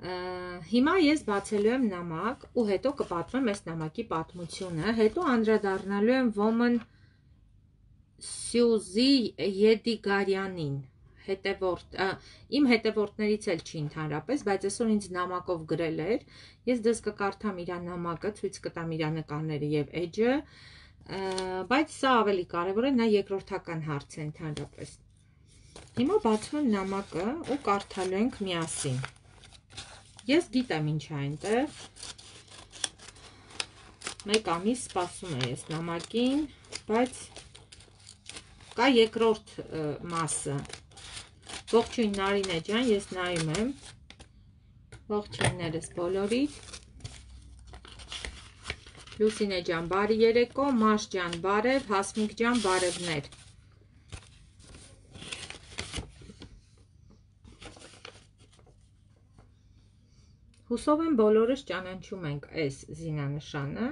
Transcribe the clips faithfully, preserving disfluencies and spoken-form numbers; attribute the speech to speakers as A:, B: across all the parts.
A: Հիմա ես բացելու եմ նամակ ու հետո կպատմեմ այս նամակի պատմությունը, հետո անդրադառնալու եմ Woman Սյուզի Եդիգարյանին, հետևորդ, իմ հետևորդներից էլ չի ընդհանրապես, բայց այսօր ինձ նամակով գրել էր, ես դες կկարդամ իր նամակը, ցույց կտամ իր նկարները եւ էջը, բայց սա ավելի կարևոր է, նա երկրորդական հարց է ընդհանրապես։ Հիմա բացում եմ նամակը ու կարդալու ենք միասին։ Ես գիտեմ ինչ է այնտեղ։ Մեկ ամիս սպասում եմ ես նամակին, բայց կա երկրորդ մասը։ Ողջույն Նարինե ջան, ես նայում եմ։ Ողջույններս բոլորիդ։ Լուսինե ջան, բարի երեկո, Մաշ ջան, բարև, Հասմիկ ջան, բարևներ։ Հուսով եմ բոլորս ճանաչում ենք այս զինանշանը։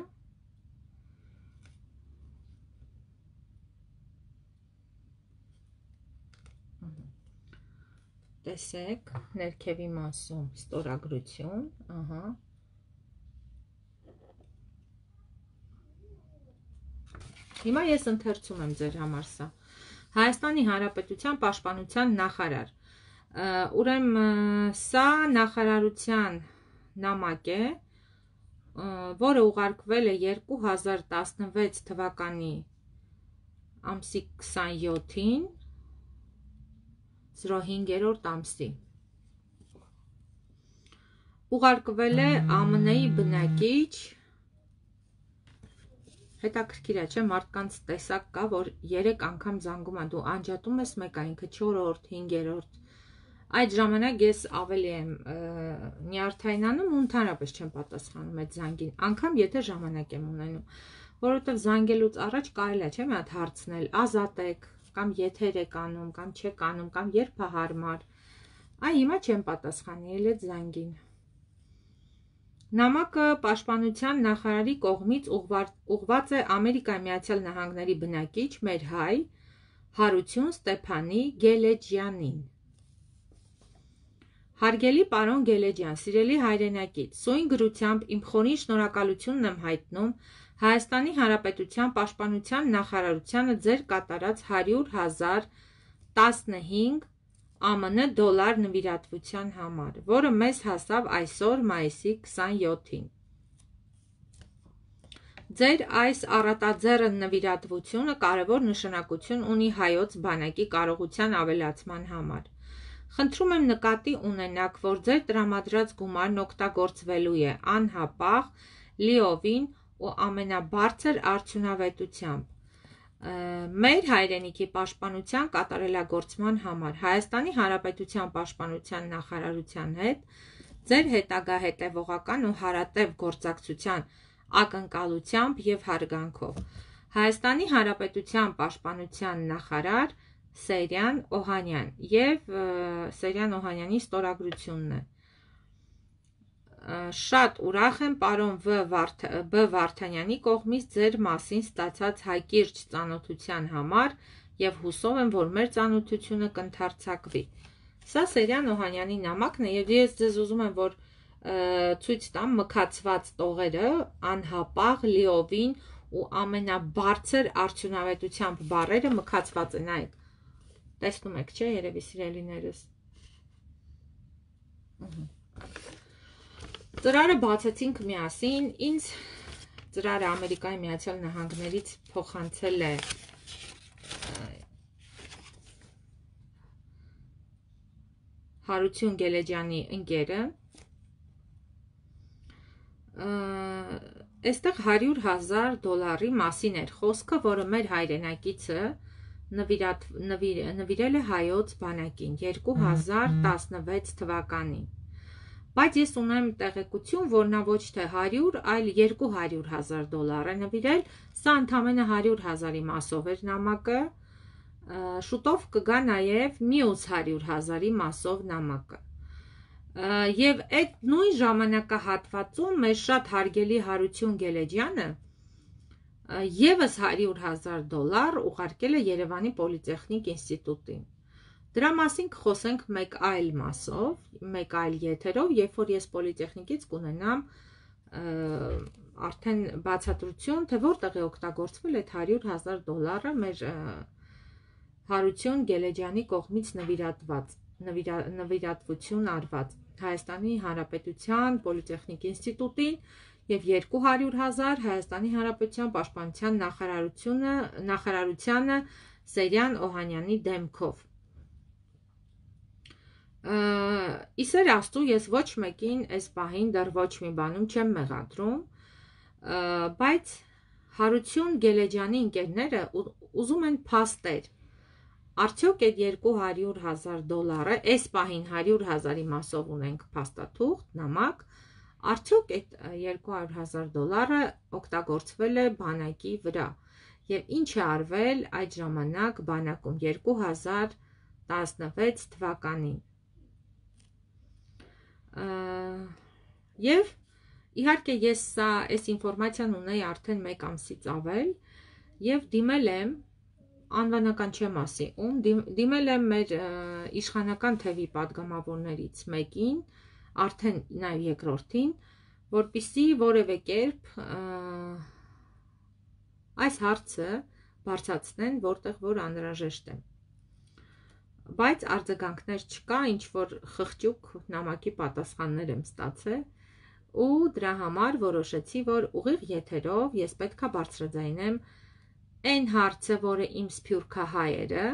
A: Տեսեք, ներքևի մասում ստորագրություն, ահա։ Հիմա ես ընթերցում եմ ձեր համար սա։ Հայաստանի Հանրապետության Պաշտպանության նախարար։ Ուրեմն սա նախարարության նամակ է, որը ուղարկվել է երկու հազար տասնվեց թվականի ամսի քսանյոթին, զրո հինգերորդ ամսի։ Ուղարկվել է ԱՄՆ-ի բնակիչ, հետաքրքիր է, չէ, մարդկանց տեսակ կա, որ երեք անգամ զանգում են, դու անջատում ես մեկը, ինքը չորրորդ, հինգերորդ։ Այդ ժամանակ ես ավելի եմ նյարդայնանում ու ընդհանրապես չեմ պատասխանում այդ զանգին, անգամ եթե ժամանակ եմ ունենում, որովհետև զանգելուց առաջ կարելի է, չէ՞, մի հատ հարցնել, ազատ եք, կամ եթեր եք անում, կամ չեք անում, կամ երբ է հարմար։ Այ հիմա չեմ պատասխանի էլ այդ զանգին։ Նամակը Պաշտպանության նախարարի կողմից ուղղված է Ամերիկայի Միացյալ Նահանգների բնակիչ մեր հայ Հարություն Ստեփանի Գելեջյանին։ Հարգելի պարոն Գելեջյան, սիրելի հայրենակից, սույն գրությամբ իմ խորին շնորհակալությունն եմ հայտնում Հայաստանի Հանրապետության Պաշտպանության նախարարությանը ձեր կատարած հարյուր հազար տասնհինգ ԱՄՆ դոլար նվիրատվության համար, որը մեզ հասավ այսօր մայիսի քսանյոթին։ Ձեր այս առատաձեռն նվիրատվությունը կարևոր նշանակություն ունի հայոց բանակի կարողության ավելացման համար։ Խնդրում եմ նկատի ունենաք, որ ձեր տրամադրած գումարն օգտագործվելու է անհապաղ, լիովին ու ամենաբարձր արդյունավետությամբ մեր հայրենիքի պաշտպանության կատարելագործման համար Հայաստանի Հանրապետության պաշտպանության նախարարության հետ ձեր հետագա հետևողական ու հարատև գործակցության ակնկալությամբ եւ հարգանքով Հայաստանի Հանրապետության պաշտպանության նախարար Սերյան Օհանյան եւ Սերյան Օհանյանի ստորագրությունն է։ Շատ ուրախ եմ պարոն Բ Վարդանյանի կողմից ձեր մասին ստացած հակիրճ ծանոթության համար եւ հուսով եմ, որ մեր ծանոթությունը կընդարձակվի։ Սա Սերյան Օհանյանի նամակն է եւ ես ձեզ ուզում եմ, որ ցույց տամ մքացված տողերը անհապաղ, լիովին ու ամենաբարձր արդյունավետությամբ բառերը մքացված են այդ։ Տեսնում եք, չէ, երևի սիրելիներս։ Ծրարը բացեցինք միասին, ինձ ծրարը Ամերիկայի Միացյալ Նահանգներից փոխանցել է Հարություն Գելեջյանի ընկերը։ Այստեղ հարյուր հազար դոլարի մասին էր խոսքը, որը մեր հայրենակիցը նվիրել է հայոց բանակին երկու հազար տասնվեց թվականին։ Բայց ես ունեմ տեղեկություն, որ նա ոչ թե հարյուր, այլ երկու հարյուր հազար դոլար է նվիրել, սա ընդամենը հարյուր հազարի մասով էր նամակը, շուտով կգա նաև մյուս հարյուր հազարի մասով նամակը։ Եվ այդ նույն ժամանակահատվածում մեր շատ հարգելի Հարություն Գելեջյանը եւս հարյուր հազար դոլար ուղարկել է Երևանի Պոլիտեխնիկ ինստիտուտին։ Դրա մասին կխոսենք մեկ այլ մասով, մեկ այլ եթերով, երբ որ ես պոլիտեխնիկից կունենամ արդեն բացատրություն, թե որտեղ է օգտագործվել այդ հարյուր հազար դոլարը մեր Հարություն Գելեջյանի կողմից նվիրատված, նվիրատվություն արված Հայաստանի Հանրապետության Պոլիտեխնիկ ինստիտուտին և երկու հարյուր հազար Հայաստանի Հանրապետության Պաշտպանության նախարարությունը, նախարարությանը Սերյան Օհանյանի դեմքով։ Իսեր Աստծու, ես ոչ մեկին այս պահին դեռ ոչ մի բանում չեմ մեղադրում, բայց Հարություն Գելեջյանի ընկերները ուզում են փաստեր։ Արդյոք այդ երկու հարյուր հազար դոլարը, այս պահին հարյուր հազարի մասով ունենք փաստաթուղթ, նամակ, արդյոք այդ երկու հարյուր հազար դոլարը օգտագործվել է բանակի վրա և ինչ է արվել այդ ժամանակ բանակում երկու հազար տասնվեց թվականին։ Եվ իհարկե ես սա այս ինֆորմացիան ունեի արդեն մեկ ամսից ավել և դիմել եմ, անվանական չեմ ասի ում, դիմել եմ մեր իշխանական թևի պատգամավորներից մեկին, արդեն նաև երկրորդին, որպեսզի որևէ կերպ այս հարցը բարձրացնեն, որտեղ որ անհրաժեշտ է։ Բայց արձագանքներ չկա, ինչ որ խղճուկ նամակի պատասխաններ եմ ստացել ու դրա համար որոշեցի, որ ուղիղ եթերով ես պետք է բարձրաձայնեմ այն հարցը, որը իմ սփյուռքահայերը,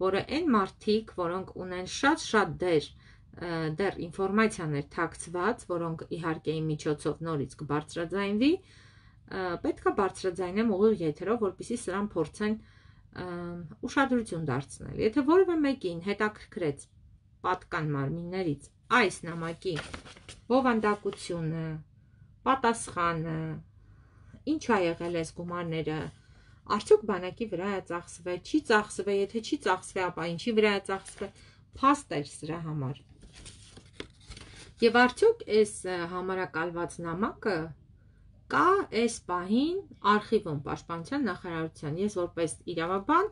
A: որը այն մարդիկ, որոնք ունեն շատ-շատ դեր, դեռ ինֆորմացիաներ թաքցված, որոնք իհարկե իմ միջոցով նորից կբարձրաձայնվի, պետք է բարձրաձայնեմ ուղիղ եթերով, որպեսզի սրան փորձեն ուշադրություն դարձնել։ Եթե որևէ մեկին հետաքրքրեց պատկան մարմիններից այս նամակի բովանդակությունը, պատասխանը, ինչ ա եղել այս գումարները, արդյոք բանակի վրա է ծախսվել, չի ծախսվել, եթե չի ծախսվել, ապա ինչի վրա է ծախսվել, փաստ էր սրա համար։ Եվ արդյոք այս համարակալված նամակը կա այս պահին արխիվում Պաշտպանության նախարարության։ Ես որպես իրավաբան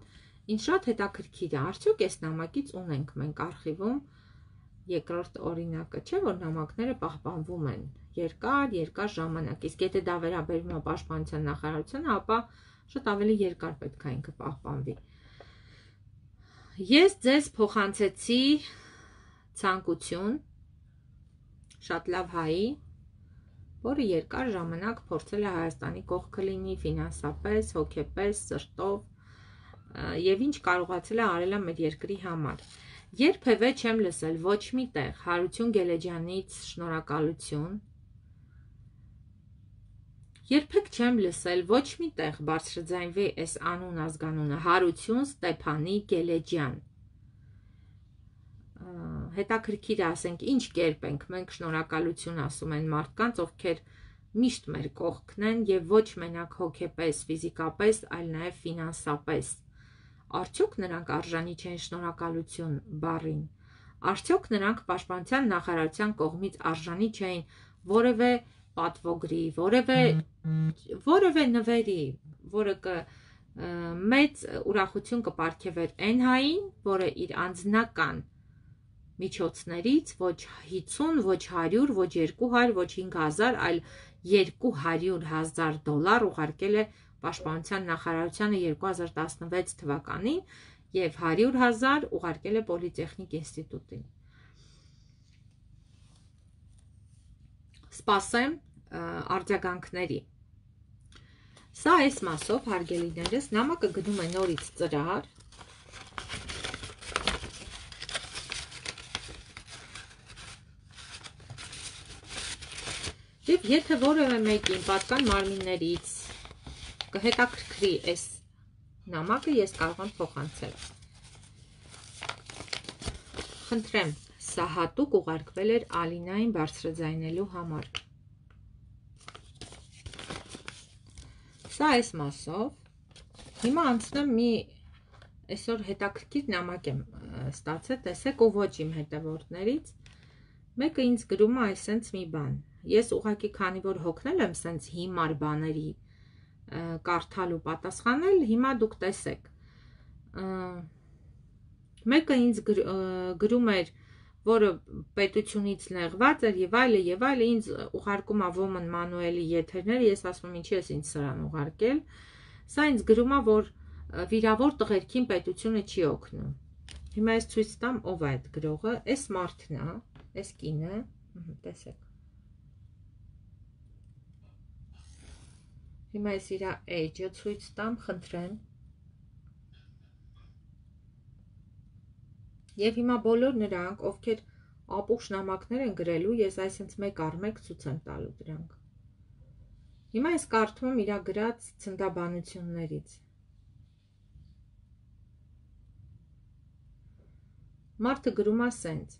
A: ինձ շատ հետաքրքիր է, արդյոք այս նամակից ունենք մենք արխիվում երկրորդ օրինակը, չէ՞ որ նամակները պահպանվում են երկար, երկար ժամանակ, իսկ եթե դա վերաբերվում է Պաշտպանության նախարարությանը, ապա շատ ավելի երկար պետք է ինքը պահպանվի։ Ես ձեզ փոխանցեցի ցանկություն շատ լավ հայի, որը երկար ժամանակ փորձել է Հայաստանի կողքը լինի ֆինանսապես, հոգեպես, սրտով եւ ինչ կարողացել է արել է մեր երկրի համար։ Երբևէ չեմ լսել ոչ մի տեղ Հարություն Գելեջյանից շնորհակալություն, երբեք չեմ լսել ոչ մի տեղ բարձրաձայնվի այս անուն ազգանունը Հարություն Ստեփանի Գելեջյան։ Հետաքրքիր է, ասենք, ինչ կերպ ենք մենք շնորհակալություն ասում են մարդկանց, ովքեր միշտ մեր կողքն են եւ ոչ մենակ հոգեպես, ֆիզիկապես, այլ նաեւ ֆինանսապես։ Արդյոք նրանք արժանի չեն շնորհակալություն բառին։ Արդյոք նրանք Պաշտպանության նախարարության կողմից արժանի չէին որևէ պատվոգրի, որևէ որևէ նվերի, որը կը մեծ ուրախություն կպարգևեր այն հային, որը իր անձնական միջոցներից ոչ հիսուն, ոչ հարյուր, ոչ երկու հարյուր, ոչ հինգ հազար, այլ երկու հարյուր հազար դոլար ուղարկել է Պաշտպանության նախարարությանը երկու հազար տասնվեց թվականին եւ հարյուր հազար ուղարկել է Պոլիտեխնիկ ինստիտուտին։ Սպասեմ արձագանքների։ Սա այս մասով, հարգելիներս, նամակը գնում է նորից ծրար։ Եվ եթե որևէ մեկին պատկան մարմիններից կհետաքրքրի այս նամակը, ես կարող եմ փոխանցել։ Խնդրեմ, սա հատուկ ուղարկվել էր Ալինային բարձրաձայնելու համար։ Սա այս մասով։ Հիմա անցնեմ մի այսօր հետաքրքիր նամակ եմ ստացել, տեսեք, ու ոչ իմ հետևորդներից։ Մեկը ինձ գրում է այսենց մի բան։ Ես ուղղակի քանի որ հոգնել եմ սենց հիմար բաների կարդալ ու պատասխանել, հիմա դուք տեսեք։ Մեկը ինձ գրում էր, որը պետությունից նեղված էր եւ այլը եւ այլը, ինձ ուղարկում է Woman Manuel-ի եթերները, ես ասում եմ ինչի ես ինձ սրան ուղարկել։ Սա ինձ գրում է, որ վիրավոր տղերքին պետությունը չի օգնում։ Հիմա ես ցույց տամ ով է այդ գրողը, այս մարդն է, այս կինը, տեսեք։ Հիմա ես իր age-ը ցույց տամ, խնդրեմ։ Եվ հիմա բոլոր նրանք, ովքեր ապուխ նամակներ են գրելու, ես այսինքն մեկ առ մեկ ցույց եմ տալու դրանք։ Հիմա ես կարդում եմ իր գրած ցնդաբանություններից։ Մարդը գրում է սենց.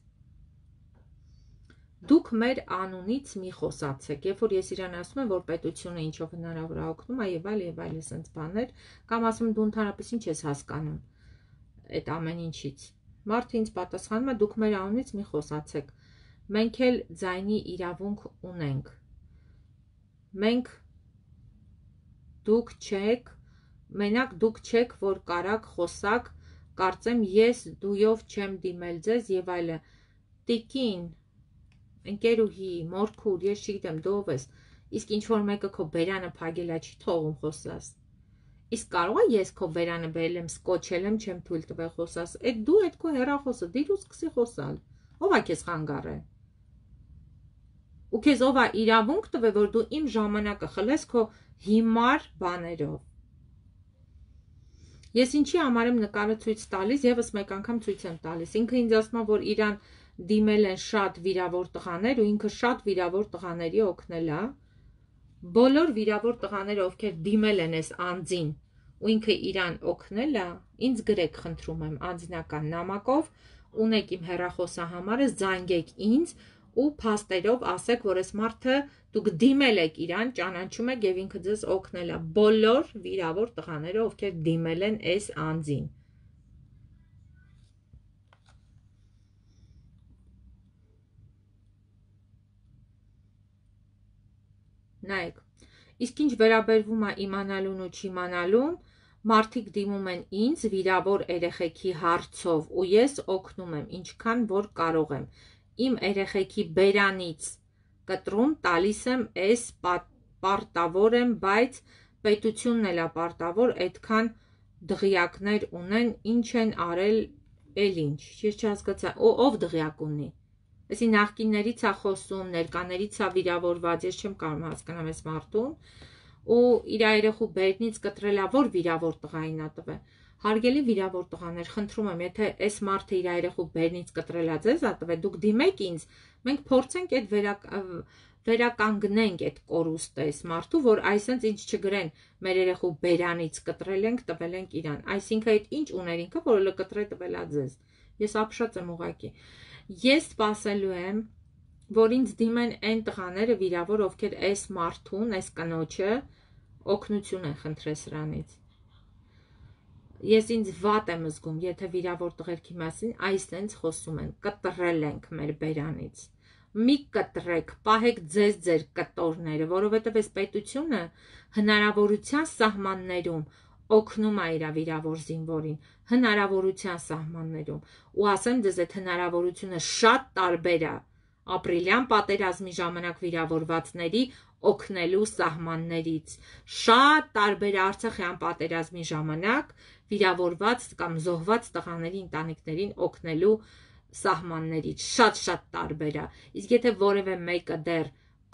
A: Դուք մեր անունից մի խոսացեք, երբ որ ես իրան ասում եմ, որ պետությունը ինչով հնարավոր է օգնում, եւ այլ եւ այլ սենց բաներ, կամ ասում դու ընդհանրապես ինչ ես հասկանում այդ ամեն ինչից։ Մարդը ինձ պատասխանում է, դուք մեր անունից մի խոսացեք, մենք էլ ձայնի իրավունք ունենք, մենք դուք չեք, մենակ դուք չեք, որ կարաք խոսակ, կարծեմ ես դույով չեմ դիմել ձեզ եւ այլը, տիկին, ընկերուհի, մորքուր, ես չգիտեմ դու ով ես, իսկ ինչ որ մեկը քո բերանը փագելա չի թողում խոսաս։ Իսկ կարող է ես քո վերանը բերել եմ, սկոչել եմ, չեմ թույլ տվել խոսաս, այդ դու այդ քո հեռախոսը դիր ու սկսի խոսալ, ով է քեզ խանգարել։ Ու քեզ ով է իրավունք տվել, որ դու իմ ժամանակը խլես քո հիմար բաներով։ Ես ինչի համար եմ նկարը ցույց տալիս, եւս մեկ անգամ ցույց եմ տալիս։ Ինքը ինձ ասում է, որ իրան դիմել են շատ վիրավոր տղաներ ու ինքը շատ վիրավոր տղաների օգնել է։ Բոլոր վիրավոր տղաները, ովքեր դիմել են այս անձին ու ինքը իրան օգնել է, ինձ գրեք, խնդրում եմ, անձնական նամակով, ունեք իմ հեռախոսահամարը, զանգեք ինձ ու փաստերով ասեք, որ այս մարդը դուք դիմել եք իրան, ճանաչում եք եւ ինքը ձեզ օգնել է։ Բոլոր վիրավոր տղաները, ովքեր դիմել են այս անձին։ Նայեք, իսկ ինչ վերաբերվում է իմանալուն ու չիմանալուն, մարդիկ դիմում են ինձ վիրավոր երեխեքի հարցով ու ես օգնում եմ ինչքան որ կարող եմ։ Իմ երեխեքի բերանից կտրում տալիս եմ, այս պարտավոր եմ, բայց պետությունն էլ է պարտավոր, այդքան դղյակներ ունեն, ինչ են արել, էլ ինչ, ես չհասկացա, ով դղյակ ունի։ Այսի նախկիններից է խոսում, ներկաներից է վիրավորված, ես չեմ կարող հասկանամ այս մարդուն, ու իր երեխու բերնից կտրելա, որ վիրավոր տղային է տվել։ Հարգելի վիրավոր տղաներ, խնդրում եմ, եթե այս մարդը իր երեխու բերնից կտրելա ձեզ է տվել, դուք դիմեք ինձ, մենք փորձենք այդ վերակ, վերականգնենք այդ կորուստը այս մարդու, որ այսինքն ինչ չգրեն, մեր երեխու բերանից կտրել ենք, տվել ենք իրան։ Այսինքն այդ ինչ ուներ ինքը, որը կտրե տվելա ձեզ։ Ես ապշած եմ ուղղակի։ Ես սպասելու եմ, որ ինձ դիմեն այն տղաները վիրավոր, ովքեր այս մարդուն, այս կնոջը օգնություն են խնդրել սրանից։ Ես ինձ վատ եմ զգում, եթե վիրավոր տղերքի մասին այսենց խոսում են, կտրել ենք մեր բերանից։ Մի կտրեք, պահեք ձեզ ձեր կտորները, որովհետև այս պետությունը հնարավորության սահմաններում օգնում է իր վիրավոր զինվորին, հնարավորության սահմաններում, ու ասեմ ձեզ, այդ հնարավորությունը շատ տարբեր է ապրիլյան պատերազմի ժամանակ վիրավորվածների օգնելու սահմաններից, շատ տարբեր է Արցախյան պատերազմի ժամանակ վիրավորված կամ զոհված տղաների ընտանիքներին օգնելու սահմաններից, շատ-շատ տարբեր է։ Իսկ եթե որևէ մեկը դեռ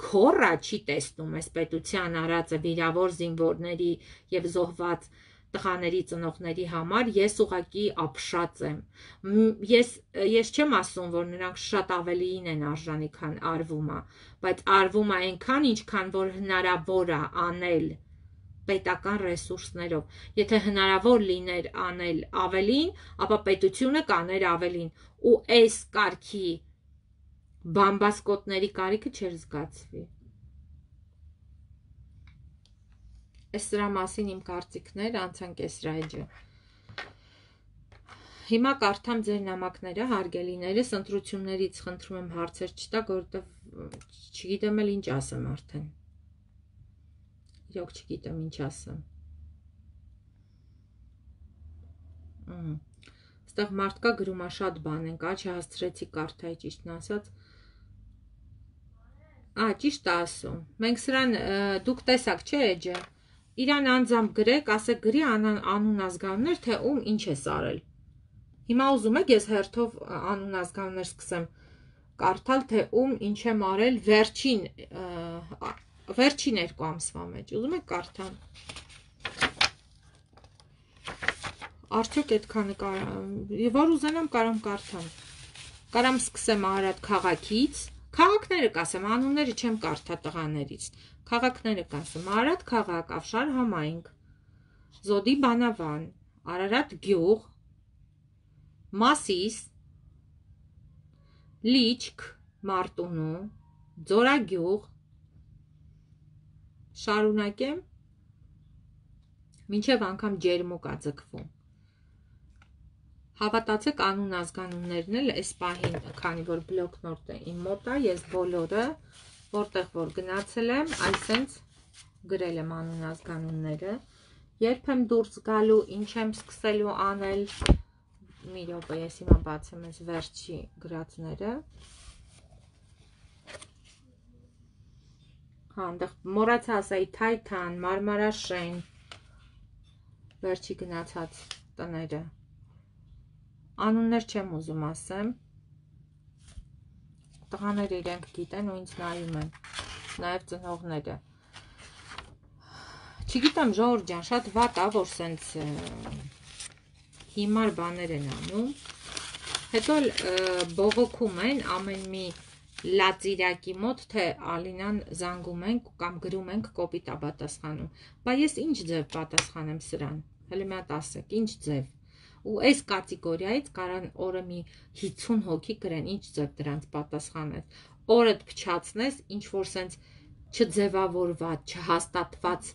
A: քոռա չի տեսնում այս պետության արածը վիրավոր զինվորների եւ զոհված տղաների ծնողների համար, ես ուղղակի ապշած եմ։ Ես ես չեմ ասում, որ նրանք շատ ավելիին են արժանի, քան արվում է, բայց արվում է այնքան, ինչքան որ հնարավոր է անել պետական ռեսուրսներով։ Եթե հնարավոր լիներ անել ավելին, ապա պետությունը կաներ ավելին, ու այս կարգի բամբասկոտների կարիքը չէր զգացվի։ Այս սրա մասին իմ կարծիքները, անցանք այս ռայջը։ Հիմա կարդամ ձեր նամակները, հարգելիներս, ընտրություններից խնդրում եմ հարցեր չտաք, որովհետև չգիտեմ էլ ինչ ասեմ արդեն։ Իրոք չգիտեմ ինչ ասեմ։ ստեղ մարդկա գրում է շատ բան ենք, ա, չհասցրեցի կարդայի ճիշտն ասած։ Ա, ճիշտ է ասում։ Մենք սրան դուք տեսակ չէ էջը։ Իրան անձամբ գրեք, ասեք գրի անուն ազգանուններ, թե ում ինչ է արել։ Հիմա ուզում եք ես հերթով անուն ազգանուններ սկսեմ կարդալ, թե ում ինչ եմ արել վերջին վերջին երկու ամսվա մեջ։ Ուզում եք կարդամ։ Արդյոք այդքանը կարամ, որ ուզենամ կարամ կարդամ։ Կարամ սկսեմ Արարատ քաղաքից, քաղաքները կասեմ, անունները չեմ կարդա տղաներից։ Քաղաքները կասեմ, Արարատ քաղաք, Ավշար համայնք, Զոդի բանավան, Արարատ գյուղ, Մասիս, Լիչք, Մարտունու, Ձորագյուղ, շարունակեմ, մինչև անգամ ջերմուկ ա ձգվում։ Հավատացեք անուն ազգանուններն էլ այս պահին, քանի որ բլոկնոտը իմ մոտ է, ես բոլորը, որտեղ որ գնացել եմ, այսենց գրել եմ անուն ազգանունները, երբ եմ դուրս գալու, ինչ եմ սկսելու անել, մի րոպե, ես հիմա բացեմ այս վերջի գրածները։ Հա, այնտեղ մոռացա ասայի Թայթան, Մարմարաշեն, վերջի գնացած տները։ Անուններ չեմ ուզում ասեմ։ Տղաները իրենք գիտեն ու ինձ նայում են, նաև ծնողները։ Չգիտեմ, Ժողովուրդ ջան, շատ վատ ա, որ սենց հիմար բաներ են անում, հետո բողոքում են ամեն մի լածիրակի մոտ, թե Ալինան զանգում ենք կամ գրում ենք կոպիտ ա պատասխանում, բա ես ինչ ձև պատասխանեմ սրան, հələ մի հատ ասեք, ինչ ձև, ու այս կատեգորիայից կարան օրը մի հիսուն հոգի գրեն, ինչ ձև դրանց պատասխանես, օրդ փչացնես, ինչ որ սենց չձևավորված, չհաստատված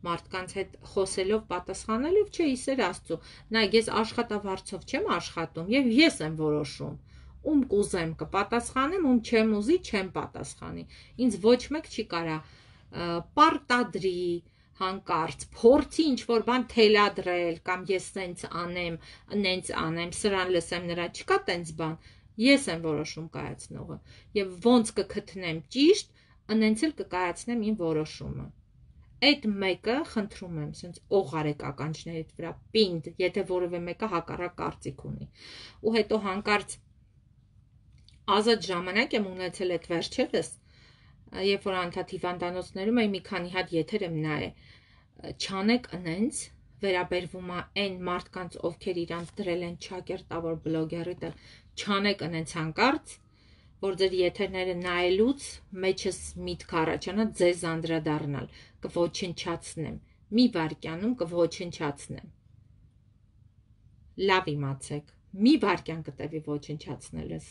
A: մարդկանց հետ խոսելով, պատասխանելով, չէ, իսեր Աստծո, նայեք, ես աշխատավարձով չեմ աշխատում եւ ես եմ որոշում, ում կուզեմ կպատասխանեմ, ում չեմ ուզի չեմ պատասխանի, ինձ ոչ մեկ չի կարա պարտադրի, հանկարծ, փորձի ինչ որ բան թելադրել, կամ ես սենց անեմ, նենց անեմ, սրան լսեմ նրա, չկա տենց բան, ես եմ որոշում կայացնողը, եւ ոնց կգտնեմ ճիշտ, նենց էլ կկայացնեմ իմ որոշումը։ Այդ մեկը խնդրում եմ, սենց օղարեք ականջներիդ վրա, պինդ, եթե որևէ մեկը հակառակ կարծիք ունի։ Ու հետո հանկարծ ազատ ժամանակ եմ ունեցել այդ վերջերս, երբ որ անդադ հիվանդանոցներում էի մի քանի հատ եթեր եմ նայել, չանեք ընենց, վերաբերվում է այն մարդկանց, ովքեր իրանց դրել են ճակերտավոր բլոգերի տեղ, չանեք ընենց հանկարծ, որ ձեր եթերները նայելուց մեջս միտք առաջանա ձեզ անդրադառնալ, կոչնչացնեմ, մի վայրկյանում կոչնչացնեմ։ Լավ իմացեք, մի վայրկյան կտևի ոչնչացնելս։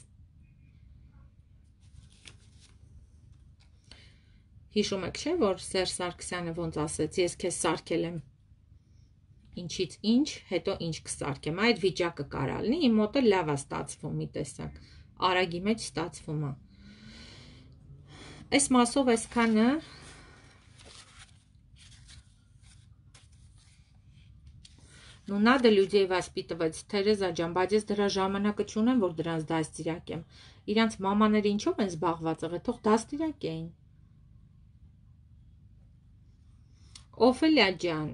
A: Հիշում եք, չէ, որ Սերժ Սարգսյանը ոնց ասեց, ես քեզ սարքել եմ ինչից ինչ, հետո ինչ կսարքեմ, այդ վիճակը կարա լինի, իմ մոտ է լավ է ստացվում, մի տեսակ, արագի մեջ ստացվում է։ Այս մասով այսքանը, ну надо людей воспитывать, Թերեզա ջան, բայց ես դրա ժամանակը չունեմ, որ դրանց դաստիարակեմ, իրանց մամաները ինչով են զբաղված եղել, թող դաստիարակեին։ Օֆելիա ջան,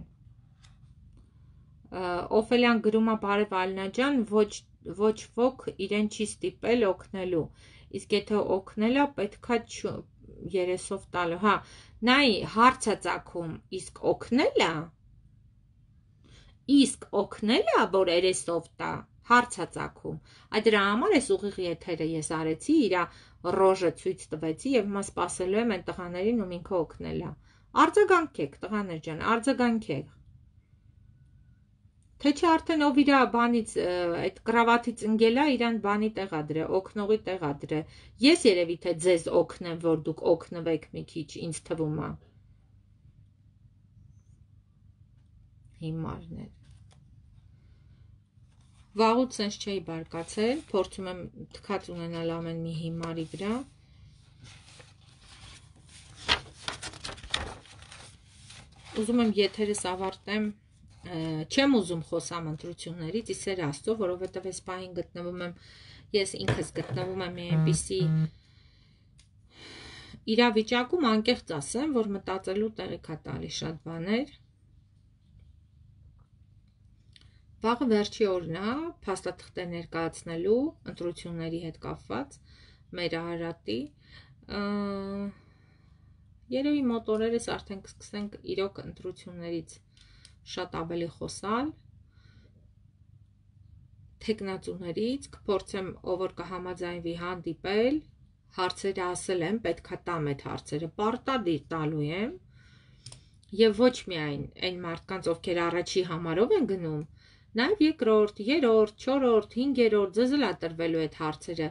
A: Օֆելյան գրում է բարև Ալինա ջան, ոչ ոչ ոք իրեն չի ստիպել օգնելու, իսկ եթե օգնելա պետքա երեսով տալու, հա, նայ հարց է ծագում, իսկ օգնելա, իսկ օգնելա, որ երեսով տա, հարց է ծագում, այդ դրա համար ես ուղիղ եթերը ես արեցի, իրա ռոժը ցույց տվեցի եւ մա սպասելու եմ այն տղաներին, ում ինքը օգնելա, արձագանքեք տղաներ ջան, արձագանքեք։ Թե չէ արդեն ով իրա բանից, այդ կրավատից ընկելա, իրան բանի տեղա դրե, օգնողի տեղա դրե, ես երևի թե ձեզ օգնեմ, որ դուք օգնվեք մի քիչ, ինձ թվում է։ Հիմարներ։ Վաղուց սենց չէի բարկացել, փորձում եմ թքած ունենալ ամեն մի հիմարի վրա։ Ուզում եմ եթերս ավարտեմ չեմ ուզում խոսամ ընտրություններից, իսեր Աստծո, որովհետև այս պահին գտնվում եմ, ես ինքս գտնվում եմ մի այնպիսի իրավիճակում, անկեղծ ասեմ, որ մտածելու տեղիք է տալիս շատ բաներ։ Վաղը վերջի օրն է փաստաթղթեր ներկայացնելու ընտրությունների հետ կապված մեր Արարատի։ Երևի մոտ օրերս արդեն կսկսենք իրոք ընտրություններից շատ ավելի խոսալ, թեկնածուներից, կփորձեմ ով որ կհամաձայնվի հանդիպել, հարցերը ասել եմ, պետքա տամ այդ հարցերը, պարտադիր տալու եմ, եւ ոչ միայն այն մարդկանց, ովքեր առաջի համարով են գնում, նաեւ երկրորդ, երրորդ, չորրորդ, հինգերորդ ձեզլա տրվելու այդ հարցերը,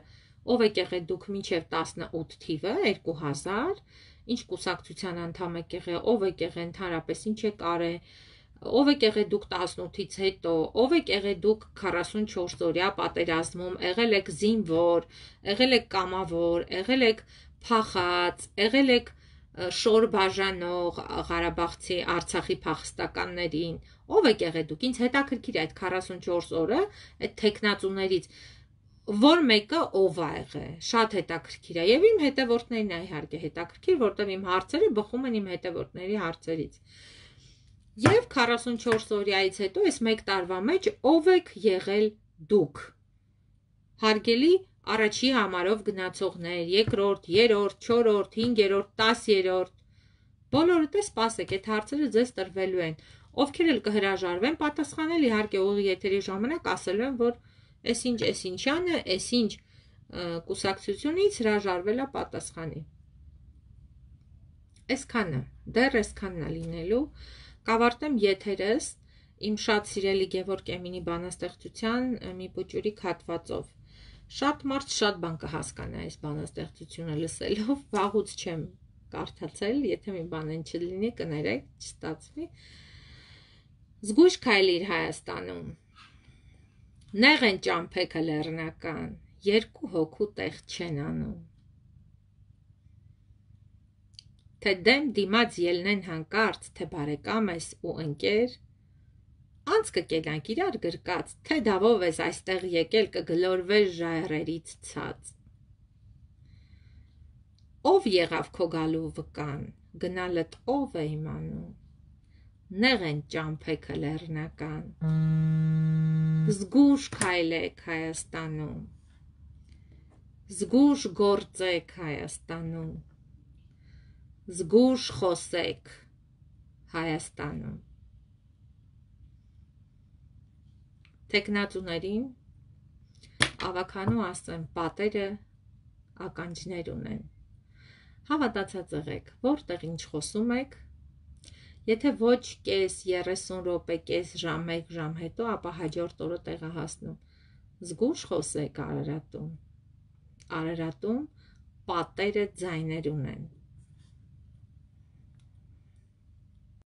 A: ով եք եղել դուք մինչև տասնութ թիվը, երկու հազար, ինչ կուսակցության անդամ եք եղել, ով եք եղել ընդհանրապես, ինչ եք արել, ով եք եղել դուք տասնութից հետո, ով եք եղել դուք քառասունչորս օրյա պատերազմում, եղել եք զինվոր, եղել եք կամավոր, եղել եք փախած, եղել եք շոր բաժանող Ղարաբաղցի Արցախի փախստականներին, ով եք եղել դուք, ինձ հետաքրքիր է այդ քառասունչորս օրը, այդ թեկնածուներից որ մեկը ով ա եղել, շատ հետաքրքիր է, եւ իմ հետևորդներին է իհարկե հետաքրքիր, որտեղ իմ հարցերը բխում են իմ հետևորդների հարցերից։ Եվ քառասունչորս օրյայից հետո այս մեկ տարվա մեջ ով եք եղել դուք։ Հարգելի առաջի համարով գնացողներ, երկրորդ, երրորդ, չորրորդ, հինգերորդ, տասերորդ, բոլորդ է սպասեք, այդ հարցերը ձեզ տրվելու են։ Ովքեր էլ կհրաժարվեն պատասխանել, իհարկե ուղիղ եթերի ժամանակ ասելու են, որ Էսինչ էսինչյանը, էսինչ կուսակցությունից հրաժարվել է պատասխանի։ Այսքանը, դեռ այսքանն է լինելու, կավարտեմ եթերս իմ շատ սիրելի Գևորգ Էմինի բանաստեղծության մի բուճուրիկ հատվածով։ Շատ մարդ շատ բան կհասկանա այս բանաստեղծությունը լսելով, վաղուց չեմ կարդացել, եթե մի բան են չլինի, կներեք, չստացվի։ Զգույշ քայլիր Հայաստանում։ Նեղ են ճամփեքը լեռնական, երկու հոգու տեղ չեն անում։ Թե դեմ դիմաց ելնեն հանկարծ, թե բարեկամ ես ու ընկեր, անց կկենանք իրար գրկած, թե դավով ես այստեղ եկել կգլորվես ժայռերից ցած։ Ով եղավ քո գալու վկան, գնալդ ով է իմանում։ Նեղ են ճամփեքը լեռնական։ Զգույշ քայլեք Հայաստանում, զգույշ գործեք Հայաստանում, զգույշ խոսեք Հայաստանում։ Թեկնածուներին ավականու ասեմ, պատերը ականջներ ունեն։ Հավատացած եղեք, որտեղ ինչ խոսում եք, եթե ոչ կես երեսուն րոպե, կես ժամ, մեկ ժամ հետո, ապա հաջորդ օրը տեղը հասնում։ Զգույշ խոսեք Արարատում։ Արարատում պատերը ձայներ ունեն։